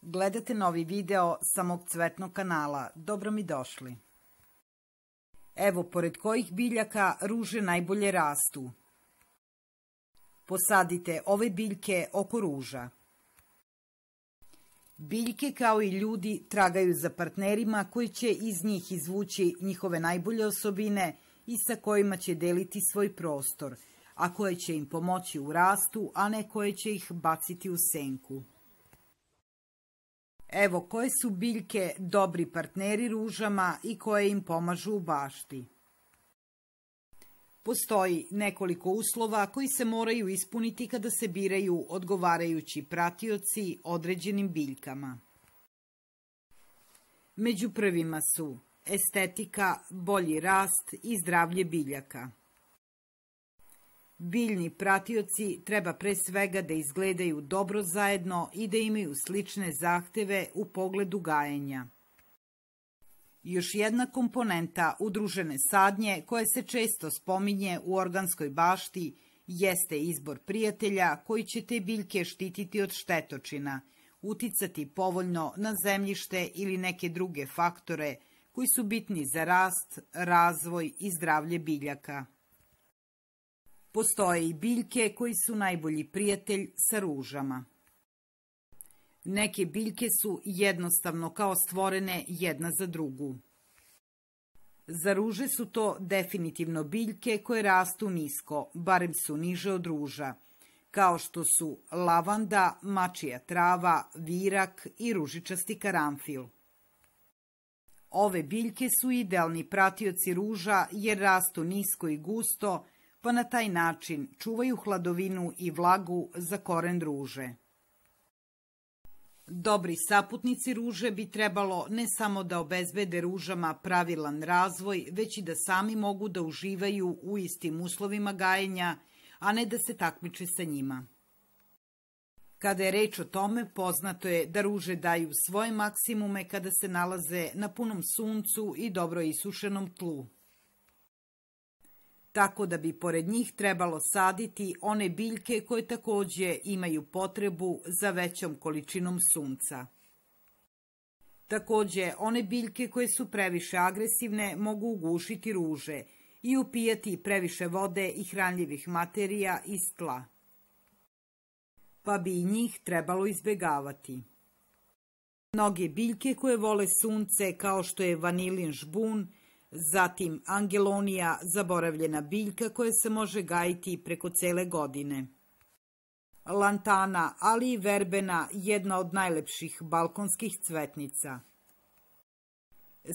Gledate novi video sa mog cvetnog kanala. Dobro mi došli. Evo pored kojih biljaka ruže najbolje rastu. Posadite ove biljke oko ruža. Biljke kao i ljudi tragaju za partnerima koji će iz njih izvući njihove najbolje osobine i sa kojima će deliti svoj prostor, a koje će im pomoći u rastu, a ne koje će ih baciti u senku. Evo koje su biljke dobri partneri ružama i koje im pomažu u bašti. Postoji nekoliko uslova koji se moraju ispuniti kada se biraju odgovarajući pratioci određenim biljkama. Među prvima su estetika, bolji rast i zdravlje biljaka. Biljni pratioci treba pre svega da izgledaju dobro zajedno i da imaju slične zahteve u pogledu gajenja. Još jedna komponenta udružene sadnje koja se često spominje u organskoj bašti jeste izbor prijatelja koji će te biljke štititi od štetočina, uticati povoljno na zemljište ili neke druge faktore koji su bitni za rast, razvoj i zdravlje biljaka. Postoje i biljke koji su najbolji prijatelj sa ružama. Neke biljke su jednostavno kao stvorene jedna za drugu. Za ruže su to definitivno biljke koje rastu nisko, barem su niže od ruža, kao što su lavanda, mačija trava, virak i ružičasti karanfil. Ove biljke su idealni pratioci ruža jer rastu nisko i gusto, pa na taj način čuvaju hladovinu i vlagu za koren ruže. Dobri saputnici ruže bi trebalo ne samo da obezbede ružama pravilan razvoj, već i da sami mogu da uživaju u istim uslovima gajenja, a ne da se takmiče sa njima. Kada je reč o tome, poznato je da ruže daju svoje maksimume kada se nalaze na punom suncu i dobro isušenom tlu. Tako da bi pored njih trebalo saditi one biljke koje takođe imaju potrebu za većom količinom sunca. Takođe, one biljke koje su previše agresivne mogu ugušiti ruže i upijati previše vode i hranljivih materija iz tla. Pa bi i njih trebalo izbegavati. Mnoge biljke koje vole sunce kao što je vanilin žbun, zatim angelonija, zaboravljena biljka koja se može gajiti preko cele godine. Lantana, ali i verbena, jedna od najlepših balkonskih cvetnica.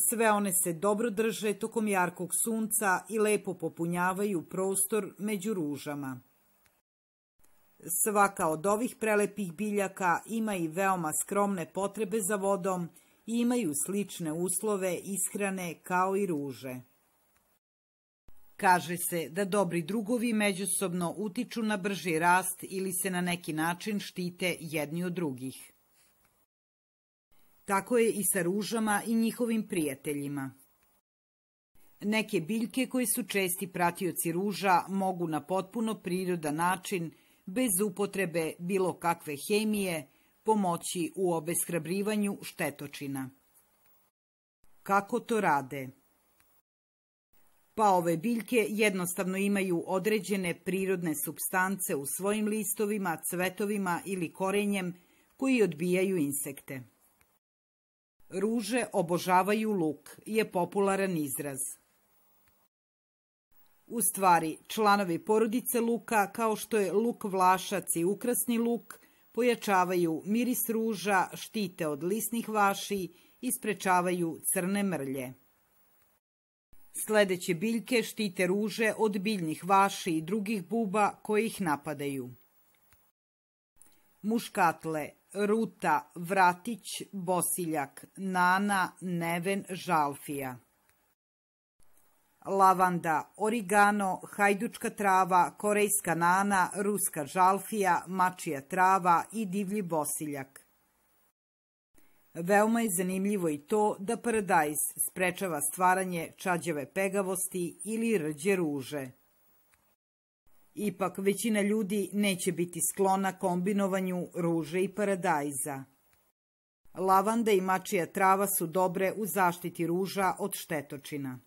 Sve one se dobro drže tokom jarkog sunca i lepo popunjavaju prostor među ružama. Svaka od ovih prelepih biljaka ima i veoma skromne potrebe za vodom i imaju slične uslove ishrane kao i ruže. Kaže se da dobri drugovi međusobno utiču na brži rast ili se na neki način štite jedni od drugih. Tako je i sa ružama i njihovim prijateljima. Neke biljke koje su česti pratioci ruža mogu na potpuno prirodan način, bez upotrebe bilo kakve hemije, pomoći u obeshrabrivanju štetočina. Kako to rade? Pa ove biljke jednostavno imaju određene prirodne supstance u svojim listovima, cvetovima ili korenjem koji odbijaju insekte. Ruže obožavaju luk je popularan izraz. U stvari, članovi porodice luka, kao što je luk vlašac i ukrasni luk, pojačavaju miris ruža, štite od lisnih vaši i sprečavaju crne mrlje. Sledeće biljke štite ruže od biljnih vaši i drugih buba koje ih napadaju. Muškatle, ruta, vratić, bosiljak, nana, neven, žalfija. Lavanda, origano, hajdučka trava, korejska nana, ruska žalfija, mačija trava i divlji bosiljak. Veoma je zanimljivo i to da paradajz sprečava stvaranje čađave pegavosti ili rđe ruže. Ipak većina ljudi neće biti sklona kombinovanju ruže i paradajza. Lavanda i mačija trava su dobre u zaštiti ruža od štetočina.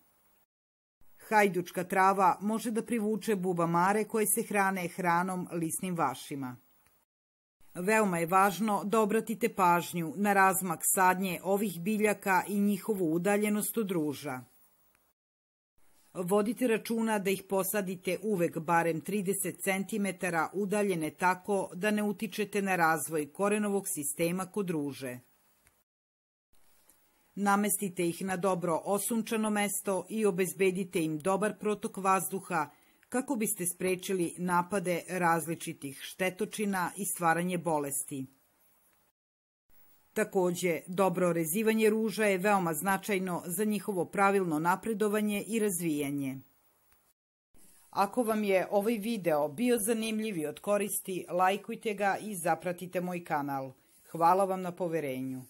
Hajdučka trava može da privuče bubamare koje se hrane hranom lisnim vašima. Veoma je važno da obratite pažnju na razmak sadnje ovih biljaka i njihovu udaljenost od ruža. Vodite računa da ih posadite uvek barem 30 cm udaljene tako da ne utičete na razvoj korenovog sistema kod ruže. Namestite ih na dobro osunčano mesto i obezbedite im dobar protok vazduha kako biste sprečili napade različitih štetočina i stvaranje bolesti. Takođe, dobro rezivanje ruža je veoma značajno za njihovo pravilno napredovanje i razvijanje. Ako vam je ovaj video bio zanimljiv i od koristi, lajkujte ga i zapratite moj kanal. Hvala vam na poverenju.